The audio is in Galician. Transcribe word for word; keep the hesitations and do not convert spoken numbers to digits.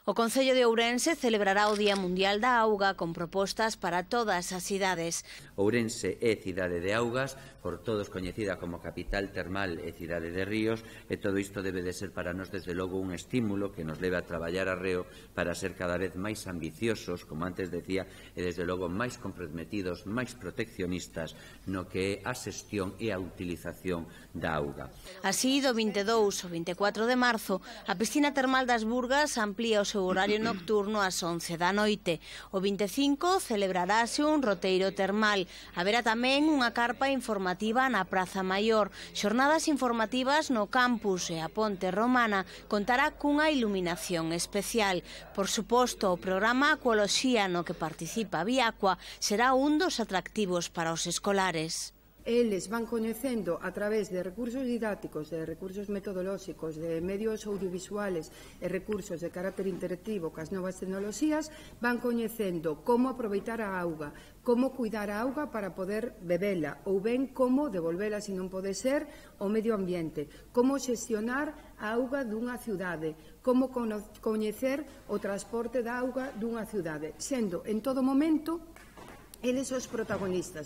O Concello de Ourense celebrará o Día Mundial da Auga con propostas para todas as cidades. Ourense é cidade de augas, por todos coñecida como capital termal e cidade de ríos, e todo isto debe de ser para nós desde logo un estímulo que nos leve a traballar arreo para ser cada vez máis ambiciosos, como antes decía, e desde logo máis comprometidos, máis proteccionistas no que é a xestión e a utilización da auga. Así, do vinte e dous ao vinte e catro de marzo, a piscina termal das Burgas amplía o seu horario nocturno ás once da noite. O vinte e cinco celebrarase un roteiro termal. Haberá tamén unha carpa informativa na Praza Maior. Xornadas informativas no campus e a Ponte Romana contará cunha iluminación especial. Por suposto, o programa Acuoloxía no que participa Viacua será un dos atractivos para os escolares. Eles van coñecendo a través de recursos didácticos, de recursos metodolóxicos, de medios audiovisuales e recursos de carácter interactivo cas novas tecnoloxías, van coñecendo como aproveitar a auga, como cuidar a auga para poder bebela ou ben como devolvela se non pode ser ao medio ambiente, como xestionar a auga dunha ciudade, como coñecer o transporte da auga dunha ciudade, sendo en todo momento eles os protagonistas.